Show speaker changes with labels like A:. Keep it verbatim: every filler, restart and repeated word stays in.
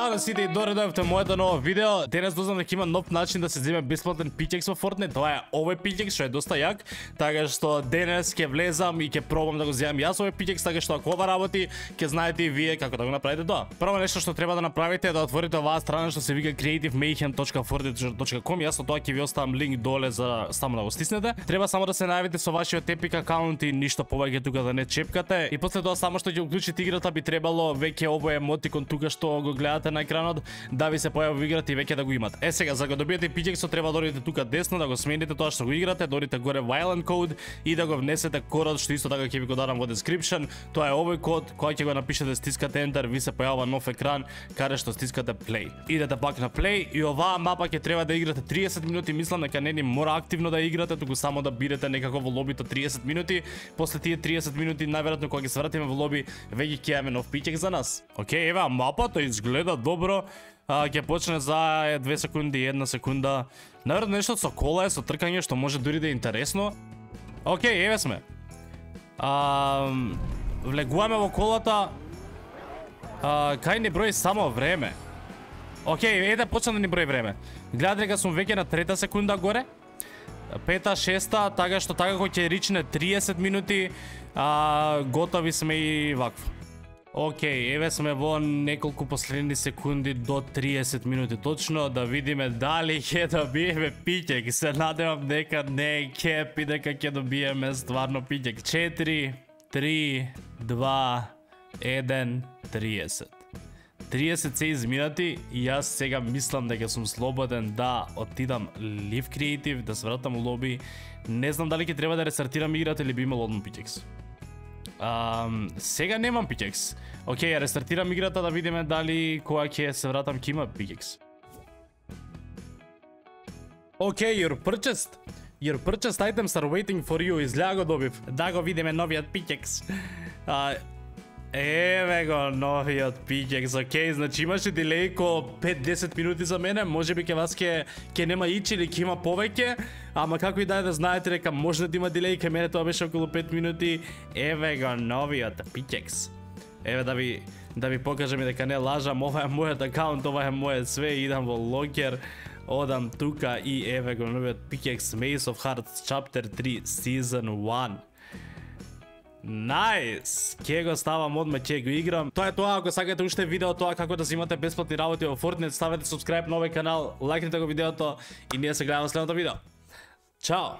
A: Ćao на сите и добре дојдовте моето ново видео. Денес дознав дека има нов начин да се земе бесплатен пикекс во Fortnite. Тоа е овој пикекс што е доста јак, така што денес ќе влезам и ќе пробам да го земам јас овој пикекс, така што ако ова работи, ќе знаете и вие како да го направите тоа. Прво нешто што треба да направите е да отворите оваа страна што се вика creative mayhem точка fortnite точка com. Јас тоа ќе ви оставам линк доле за само да го стиснете. Треба само да се најавите со вашиот Epic акаунт и ништо повеќе тука да не чепкате. И после тоа само што ќе уклучите играта би требало веќе овој емотикон тука што го гледате на екранот да ви се појави во играта и веќе да го имате. Е сега за да го добиете пикексот треба да одите тука десно, да го смените тоа што го играте, да одите горе Violent Code и да го внесете кодот што исто така ќе ви го дадам во description. Тоа е овој код, кој ќе го напишете, стискате enter, ви се појавува нов екран каде што стискате play. Идете пак на play и оваа мапа ќе треба да играте триесет минути, мислам дека не ни мора активно да играте, туку само да бидете некако во лобито триесет минути. После тие триесет минути најверојатно кога ќе се вратиме во лоби, веќе ќе имаме нов пикекс за нас. Океј, ева мапата изгледа добро. А, ќе почне за две секунди, една секунда. Наверно нешто со кола е, со тркање, што може дури да е интересно. Океј, еве сме. А, влегуваме во колата. А, кај ни брои само време. Океј, еде почна да ни брои време. Гледате дека сум веќе на трета секунда горе. Пета, шеста, така што така кој ќе ричне триесет минути, а, готови сме и вакво. Океј, еве сме во неколку последни секунди до триесет минути точно, да видиме дали ќе добиеме пикек. Се надевам дека не е кеп и дека ќе добиеме стварно пикек. четири, три, два, еден, триесет. триесет се изминати и јас сега мислам дека сум слободен да отидам Live Creative, да се вратам у лоби. Не знам дали ќе треба да рестартирам играта или би имал одмон пикекс. Um, сега немам пикекс. Океј, ја рестартирам играта да видиме дали кога ќе се вратам ќе има пикекс. Океј, you're purchased. Your purchased items are waiting for you. Изгледа го добив. Да го видиме новиот пикекс. Uh, еве го новиот пикекс. Океј, значи имаше дилеј ко пет до десет минути за мене. Може би ке вас ке, ке нема ич или ке има повеќе. Ама како и да е да знаете дека може да има дилеј, ке мене тоа беше околу пет минути. Еве го новиот пикекс. Еве да ви да ви покажам и дека не лажам, ова е мојот акаунт, ова е мојот све, идам во локер, одам тука и еве го новиот пикекс Maze of Hearts Chapter три Season еден. Најс! Ке го ставам одма, ќе го играм. Тоа е тоа, ако сакате уште видео тоа како да земате бесплатни работи во Fortnite, ставете subscribe на овој канал, лајкнете го видеото и ние се гледаме во следното видео. Чао!